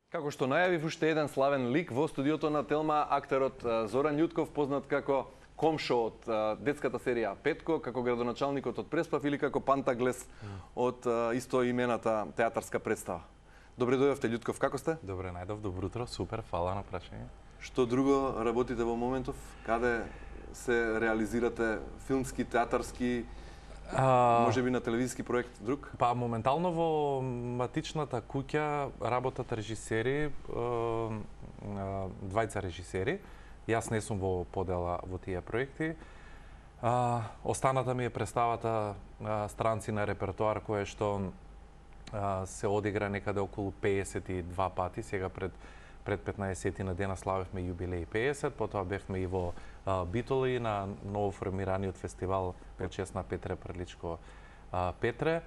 Како што најавив уште еден славен лик во студиото на Телма, актерот Зоран Љутков, познат како Комшо од детската серија Петко, како градоначалникот од Преспав или како Пантаглес од истоимената театарска представа. Добре дојдовте, Љутков, како сте? Добре најдов, добро утро, супер, фала на прашање. Што друго работите во моментов? Каде се реализирате филмски, театарски, може би на телевизиски проект друг? Па моментално во матичната куќа работат режисери, двајца режисери. Јас не сум во подела во тие проекти. Останата ми е представата Странци на репертоар, кое што се одигра некаде околу 52 пати. Сега пред 15 на дена славевме јубилеј 50, потоа бевме и во Битоли на ново формираниот фестивал во чест на Петре Приличко Петре.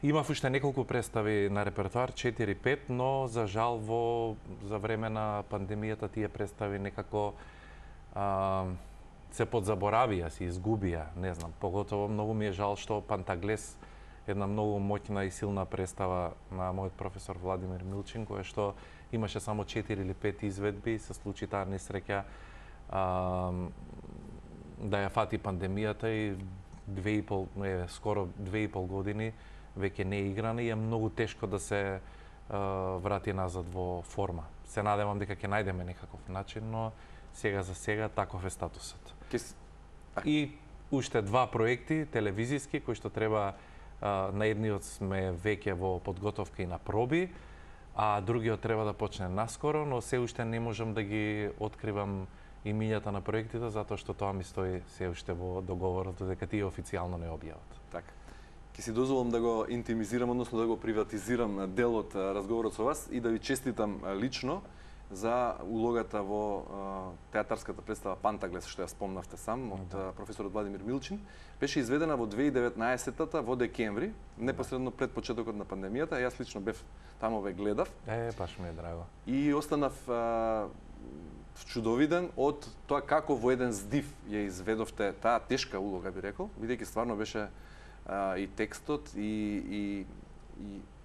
Имав уште неколку представи на репертоар, 4-5, но за жал за време на пандемијата тие представи некако се подзаборавија, се изгубија, не знам. Поготово многу ми е жал што Пантаглес, една многу моќна и силна представа на мојот професор Владимир Милчин, која што имаше само 4 или 5 изведби, се случи таа несреќа да ја фати пандемијата и скоро 2,5 години веќе не е играна и е многу тешко да се врати назад во форма. Се надевам дека ќе најдеме некаков начин, но сега за сега таков е статусот. И уште два проекти телевизиски кои што треба, на едниот сме веќе во подготовка и на проби, а другиот треба да почне наскоро, но се уште не можам да ги откривам имињата на проектите, затоа што тоа ми стои се уште во договорот, додека тие официјално не објават. Така. Ќе си дозволам да го интимизирам, односно да го приватизирам дел од разговорот со вас и да ви честитам лично за улогата во театарската представа Пантаглес, што ја спомнавте сам, од професорот Владимир Милчин. Беше изведена во 2019-та во декември, непосредно пред почетокот на пандемијата. Јас лично бев таму, ве гледав. Баш ми е драго. И останав вчудовиден од тоа како во еден здив ја изведовте таа тешка улога, би рекол, бидејќи стварно беше и текстот и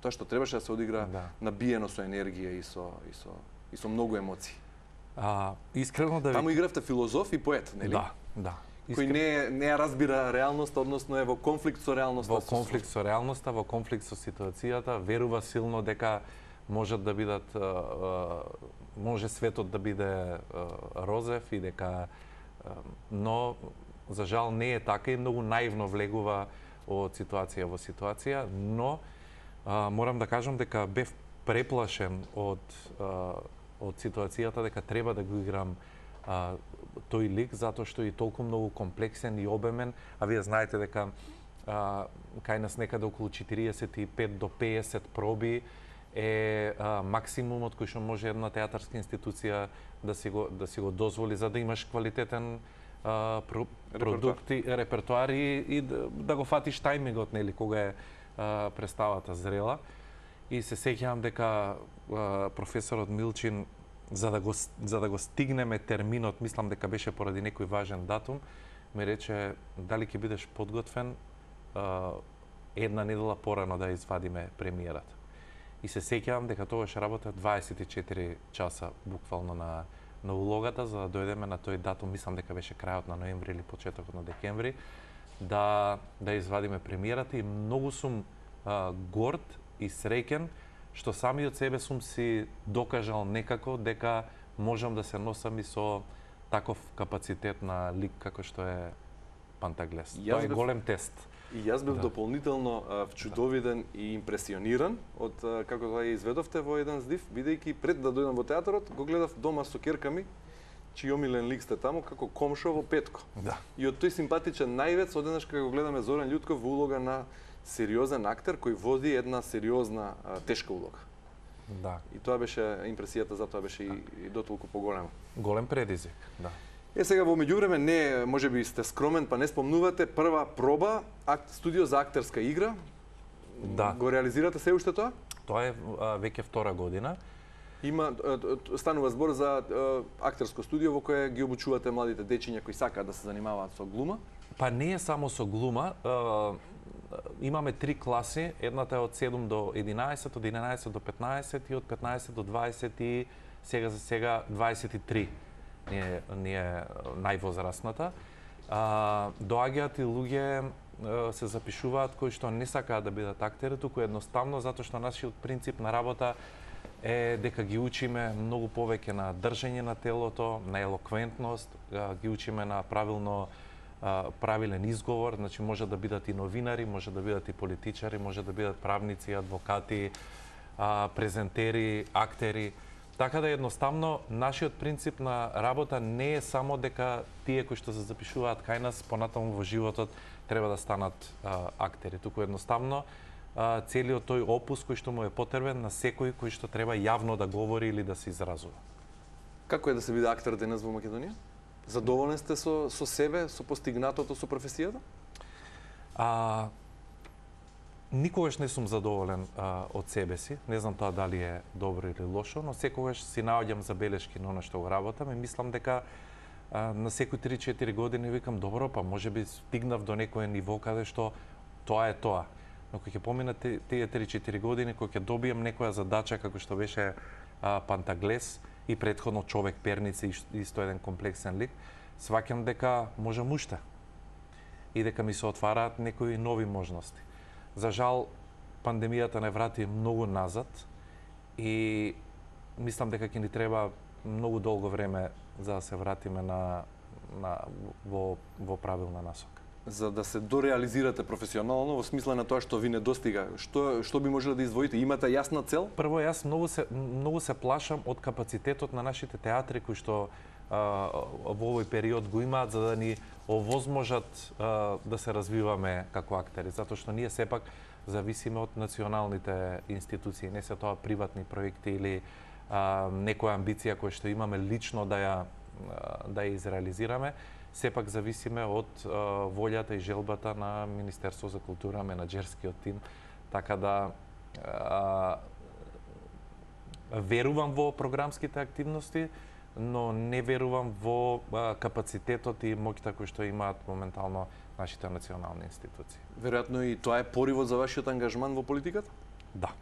тоа што требаше да се одигра набиено со енергија и со многу емоции. Искрено да ви... Таму игравте филозоф и поет, нели? Да. Кој не ја разбира реалноста, односно е во конфликт со реалноста. Во конфликт со реалноста, во конфликт со ситуацијата, верува силно дека можат да бидат, може светот да биде розев и дека, но за жал не е така и многу наивно влегува од ситуација во ситуација, но морам да кажам дека бев преплашен од ситуацијата, дека треба да го играм тој лик, затоа што е толку многу комплексен и обемен, а вие знаете дека кај нас некаде околу 45 до 50 проби е максимумот кој што може една театарска институција да си го дозволи за да имаш квалитетен продукт и репертоар и да го фатиш тајмингот, нели, кога е представата зрела. И се сеќавам дека професорот Милчин, за да го стигнеме терминот, мислам дека беше поради некој важен датум, ме рече дали ќе бидеш подготвен една недела порано да извадиме премиерата. И се сеќавам дека тогаш работев 24 часа буквално на улогата за да дојдеме на тој датум, мислам дека беше крајот на ноември или почетокот на декември, да извадиме премиерата и многу сум горд и среќен што самиот себе сум си докажал некако дека можам да се носам и со таков капацитет на лик како што е Пантаглес. Тоа е голем тест. И јас бев дополнително вчудовиден и импресиониран од како тоа изведовте во еден здив, бидејќи пред да дојдам во театарот, го гледав дома со ќерка ми, чиј омилен лик сте таму, како Комшо во Петко. И од тој симпатичен наивец, одеднаш кога го гледаме Зоран Љутков во улога на сериозен актер кој води една сериозна, тешка улога. И тоа беше импресијата, затоа беше и дотолку поголема. Голем предизвик, да. Сега во меѓувреме не, можеби сте скромен, па не спомнувате прва проба студио за актерска игра. Го реализирате се уште тоа? Тоа е веќе втора година. Станува збор за актерско студио во кое ги обучувате младите дечиња кои сакаат да се занимаваат со глума? Па не е само со глума. имаме 3 класи, едната е од 7 до 11, од 11 до 15 и од 15 до 20 и сега за сега 23 не е највозрастната. Доаѓаат и луѓе се запишуваат кои што не сакаат да бидат актери, туку едноставно затоа што нашиот принцип на работа е дека ги учиме многу повеќе на држење на телото, на елоквентност, ги учиме на правилен изговор, значи може да бидат и новинари, може да бидат и политичари, може да бидат правници, адвокати, презентери, актери. Така да едноставно нашиот принцип на работа не е само дека тие кои што се запишуваат кај нас понатаму во животот треба да станат актери, туку едноставно целиот тој опус кој што му е потребен на секој кој што треба јавно да говори или да се изразува. Како е да се биде актер денес во Македонија? Задоволен сте со себе, со постигнатото со професијата? Никогаш не сум задоволен од себе си. Не знам тоа дали е добро или лошо, но секогаш си наоѓам забелешки на она што го работам и мислам дека на секои 3-4 години викам добро, па можеби стигнав до некое ниво каде што тоа е тоа. Но кога ќе поминат тие 3-4 години, кога ќе добием некоја задача како што беше Пантаглес и претходно Човек перници, исто еден комплексен лик, сваќам дека можам уште и дека ми се отвараат некои нови можности. За жал, пандемијата не врати многу назад и мислам дека ќе ни треба многу долго време за да се вратиме во правилна насока. За да се дореализирате професионално во смисла на тоа што ви не достига, што би можеле да издвоите? Имате јасна цел? Прво, јас многу се плашам од капацитетот на нашите театри кои што во овој период го имаат за да ни овозможат да се развиваме како актери, затоа што ние сепак зависиме од националните институции, не се тоа приватни проекти или некоја амбиција која што имаме лично да ја изреализираме, сепак зависиме од волјата и желбата на Министерство за култура, менаџерскиот тим, така да верувам во програмските активности, но не верувам во капацитетот и моќта кој што имаат моментално нашите национални институции. Веројатно и тоа е поривот за вашиот ангажман во политиката? Да.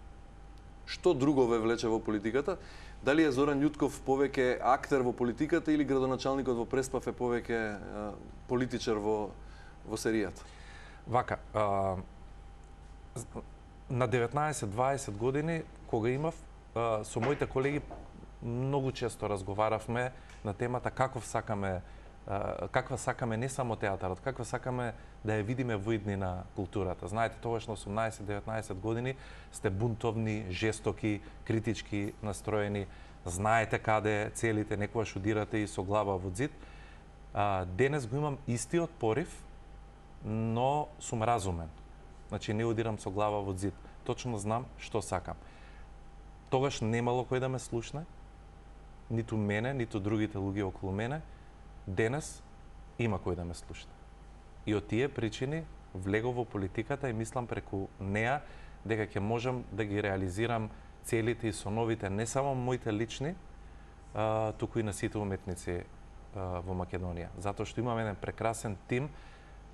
Што друго ве влече во политиката? Дали е Зоран Љутков повеќе актер во политиката или градоначалникот во Преспав е повеќе политичар во серијата? Вака, на 19-20 години, кога имав, со моите колеги многу често разговаравме на темата каква сакаме не само театарот, каква сакаме да ја видиме во иднина културата. Знаете, тогаш на 18-19 години сте бунтовни, жестоки, критички настроени, знаете каде целите, некогаш удирате и со глава во зид. Денес го имам истиот порив, но сум разумен. Значи не удирам со глава во зид. Точно знам што сакам. Тогаш немало кој да ме слушне, ниту мене, ниту другите луѓе околу мене. Денес има кој да ме слушне. И од тие причини влегов во политиката и мислам преку неа дека ќе можам да ги реализирам целите и соновите не само моите лични, туку и на сите уметници во Македонија. Затоа што имаме еден прекрасен тим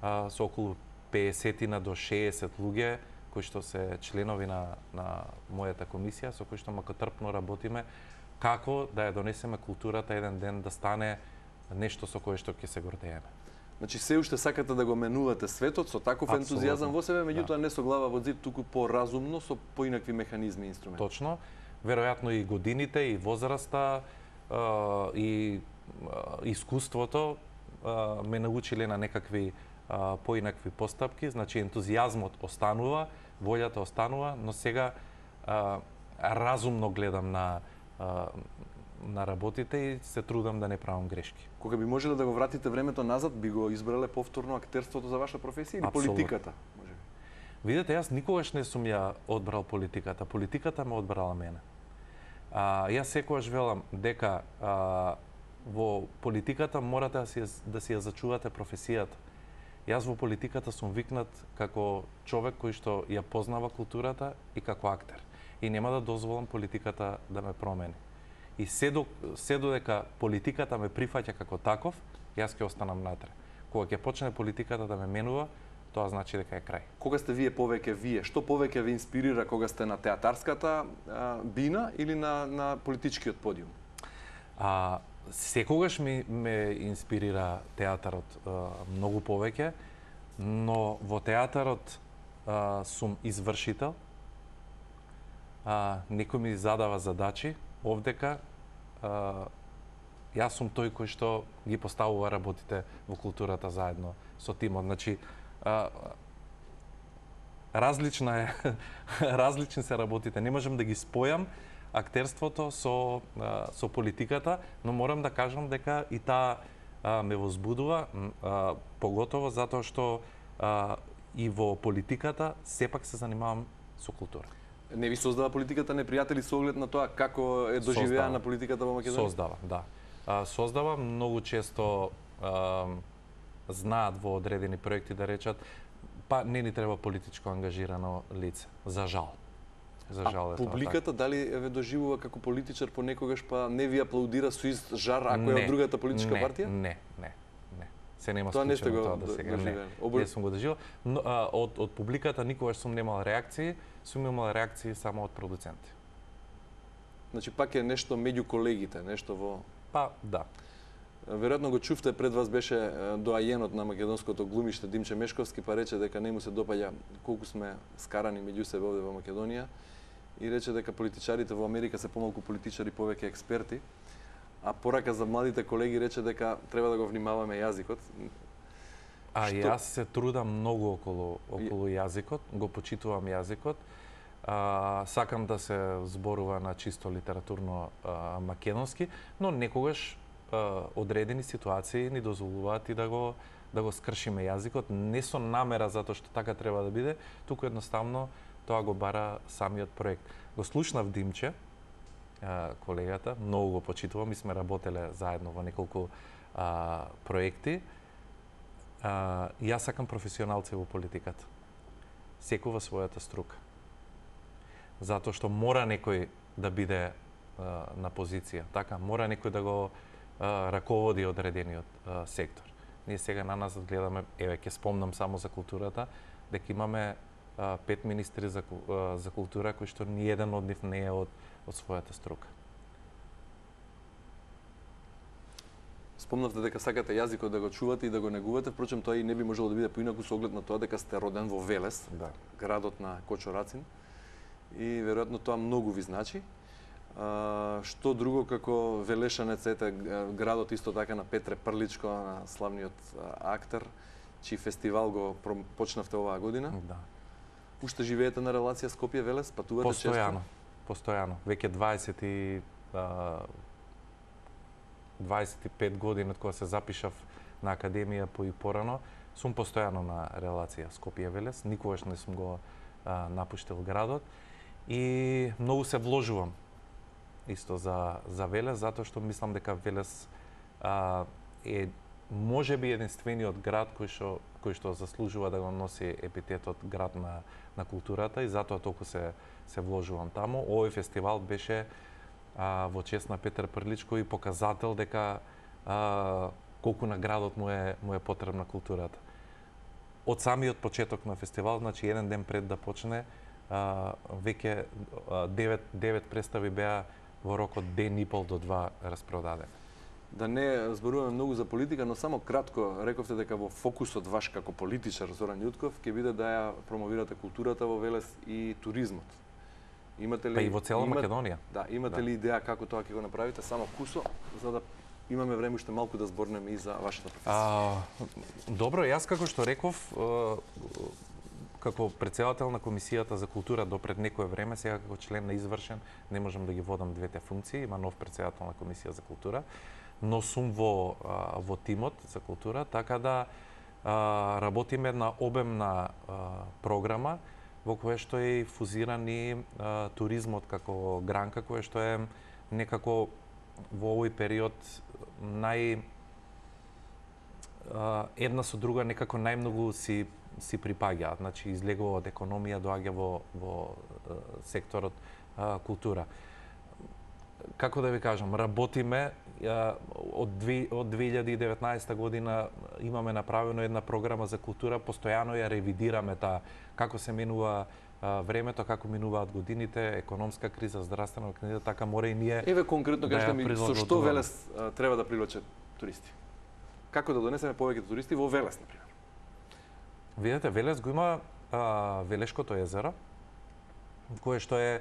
со околу 50 до 60 луѓе кои што се членови на мојата комисија, со кои што макотрпно работиме како да ја донесеме културата еден ден да стане нешто со кое што ќе се гордееме. Значи се уште сакате да го менувате светот со таков ентузијазам во себе, меѓутоа не со глава во зид, туку поразумно со поинакви механизми и инструменти. Точно. Веројатно и годините, и возраста, и искуството ме научиле на некакви поинакви постапки, значи ентузијазмот останува, волјата останува, но сега разумно гледам на работите и се трудам да не правам грешки. Кога би можеле да го вратите времето назад, би го избрале повторно актерството за ваша професија или политиката? Видете, јас никогаш не сум ја одбрал политиката. Политиката ме одбрала мене. Јас секогаш велам дека во политиката морате да си ја зачувате професијата. Јас во политиката сум викнат како човек кој што ја познава културата и како актер. И нема да дозволам политиката да ме промени. И се додека политиката ме прифаќа како таков, јас ќе останам натре. Кога ќе почне политиката да ме менува, тоа значи дека е крај. Кога сте вие, што повеќе ви инспирира кога сте на театарската бина или на политичкиот подиум? Секогаш ме инспирира театарот многу повеќе, но во театарот сум извршител. Некој ми задава задачи, овдека јас сум тој кој што ги поставува работите во културата заедно со тимот. Значи, различни се работите. Не можам да ги спојам актерството со политиката, но морам да кажам дека и таа ме возбудува, поготово затоа што и во политиката сепак се занимавам со култура. Не ви создава политиката непријатели со оглед на тоа како е доживеана политиката во Македонија? Создава, да. Создава, многу често знаат во одредени проекти да речат па не ни треба политичко ангажирано лице, за жал. За жал е тоа. Публиката дали ве доживува како политичар понекогаш па не ви аплаудира со ист жар ако е од другата политичка партија? Не. Се нема тоа не сте го тоа да сега. Не сум го доживел. Но, од публиката никогаш сум немал реакции, сум имал реакции само од продуценти. Значи пак е нешто меѓу колегите, нешто во... Па, да. Веројатно го чувте, пред вас беше доајенот на македонското глумиште Димче Мешковски, па рече дека не му се допаѓа колку сме скарани меѓу себе овде во Македонија и рече дека политичарите во Америка се помалку политичари, повеќе експерти, а порака за младите колеги рече дека треба да го внимаваме јазикот. Јас се трудам многу околу јазикот, го почитувам јазикот. Сакам да се зборува на чисто литературно македонски, но некогаш одредени ситуации ни дозволуваат и да го скршиме јазикот, не со намера затоа што така треба да биде, туку едноставно тоа го бара самиот проект. Го слушнав Димче, колегата, многу го почитувам и сме работеле заедно во неколку проекти. Јас сакам професионалци во политиката. Секој во својата струка. Затоа што мора некој да биде на позиција, така, мора некој да го раководи одредениот сектор. Ние сега на нас гледаме, еве ќе спомнам само за културата, дека имаме 5 министри за култура кои што ни еден од нив не е од својата струка. Спомнавте дека сакате јазикот да го чувате и да го негувате, впрочем тоа и не би можело да биде поинаку со оглед на тоа дека сте роден во Велес, да, градот на Кочо Рацин, и веројатно тоа многу ви значи. Што друго како велешанец, ете, градот исто така на Петре Прличко, на славниот актер, чиј фестивал го почнавте оваа година. Да. Уште живеете на релација Скопје-Велес, патувате често? Постојано. Веќе 25 години од кога се запишав на академија по и порано, сум постојано на релација Скопје-Велес, никогаш не сум го напуштил градот и многу се вложувам исто за Велес, затоа што мислам дека Велес е можеби единствениот град кој што заслужува да го носи епитетот град на културата и затоа толку се вложувам таму. Овој фестивал беше во чест на Петар Прличко и показател дека колку на градот му е потребна културата. Од самиот почеток на фестивал, значи еден ден пред да почне, веќе 9 представи беа во рок од ден и пол до 2 распродадени. Да не зборуваме многу за политика, но само кратко рековте дека во фокусот ваш како политичар Зоран Јутков ќе биде да ја промовирате културата во Велес и туризмот. Имате ли па и во цела Македонија? Да, имате ли идеја како тоа ќе го направите? Само кусо, за да имаме време уште малку да зборнеме и за вашата професија. Добро, јас како што реков, како претседател на Комисијата за култура до пред некое време, сега како член на извршен, не можам да ги водам двете функции, има нов претседател на Комисија за култура, но сум во тимот за култура, така да работиме една обемна програма во која што е фузиран и туризмот како гранка, која што е некако во овој период една со друга некако најмногу си припаѓаат, значи излегува од економија, доаѓа во секторот култура. Како да ви кажам, работиме од 2019 година имаме направено една програма за култура, постојано ја ревидираме таа, како се менува времето, како минуваат годините, економска криза, здравствена криза, така мора и ние. Еве конкретно кажете ми со што прилагодуваме. Велес треба да привлече туристи? Како да донесеме повеќе туристи во Велес, например? Видете, Велес го има Велешкото езеро, кое што е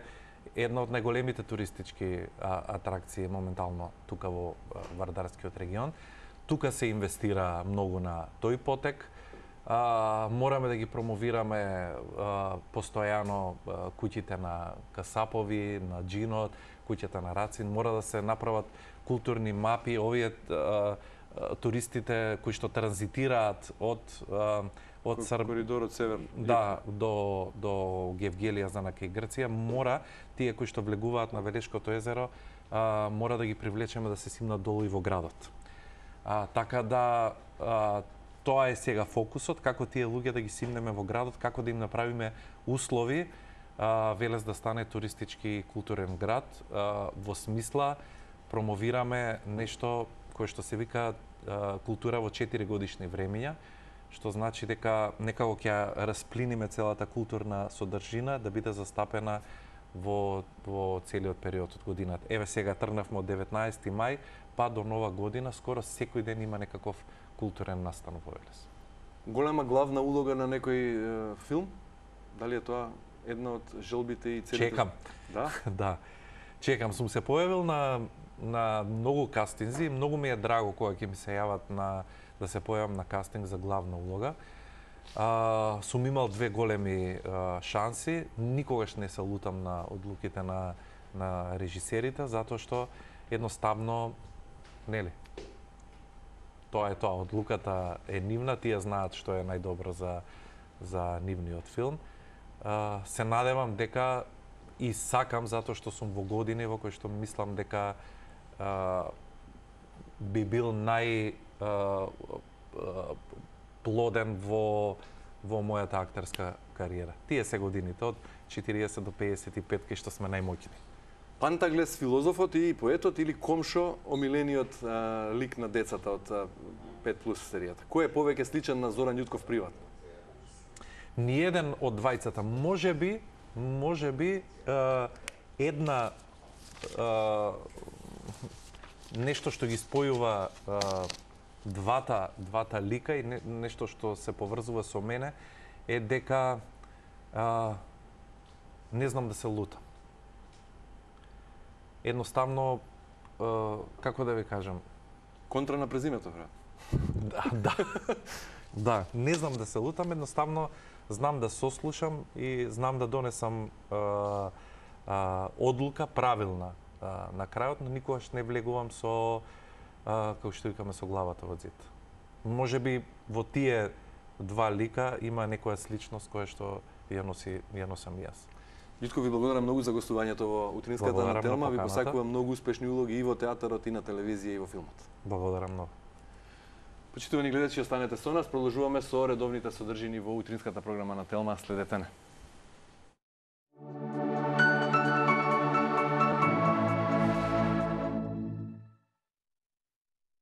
една од најголемите туристички атракции моментално тука во Вардарскиот регион. Тука се инвестира многу на тој потек. Мораме да ги промовираме постојано куќите на касапови, на джинот, куќата на Рацин. Мора да се направат културни мапи. Овие туристите кои што транзитираат од коридорот север, да, до Гевгелија за кај Грција, мора тие кои што влегуваат на Велешкото езеро, мора да ги привлечеме да се симнат долу и во градот. Така да тоа е сега фокусот, како тие луѓе да ги симнеме во градот, како да им направиме услови Велес да стане туристички и културен град, во смисла промовираме нешто кое што се вика култура во 4 годишни времиња, што значи дека некако ќе расплиниме целата културна содржина да биде застапена во целиот период од годината. Еве сега тргнавме од 19 мај па до нова година, скоро секој ден има некаков културен настан во Велес. Голема главна улога на некој филм? Дали е тоа една од желбите и целите? Чекам. Да? Да. Чекам, сум се појавил на многу кастинзи, многу ми е драго кога ќе ми се јават да се појавам на кастинг за главна улога. Сум имал 2 големи шанси, никогаш не се лутам на одлуките на режисерите, затоа што едноставно, нели, тоа е тоа, одлуката е нивна, тие знаат што е најдобро за нивниот филм. Се надевам дека и сакам, затоа што сум во години во кои што мислам дека би бил плоден во мојата актерска кариера. Тие се годините од 40 до 55 кај што сме најмоќни. Пантаглес, филозофот и поетот или Комшо, омилениот лик на децата од 5+ серијата? Кој е повеќе сличен на Зоран Ѓутков приватно? Ниеден од двајцата. Можеби една нешто што ги спојува двата лика и нешто што се поврзува со мене е дека не знам да се лутам. Едноставно, како да ви кажам, контра на презимето, брат. Да, не знам да се лутам, едноставно знам да сослушам и знам да донесам одлука правилна на крајот, но никогаш не влегувам со како што викаме со главата во зид. Можеби во тие 2 лика има некоја сличност која што ја носам јас. Ѓутко, ви благодарам многу за гостувањето во Утринската на Телма. Ви посакувам многу успешни улоги и во театарот, и на телевизија, и во филмот. Благодарам многу. Почитувани гледачи, останете со нас. Продолжуваме со редовните содржини во Утринската програма на Телма. Следете не.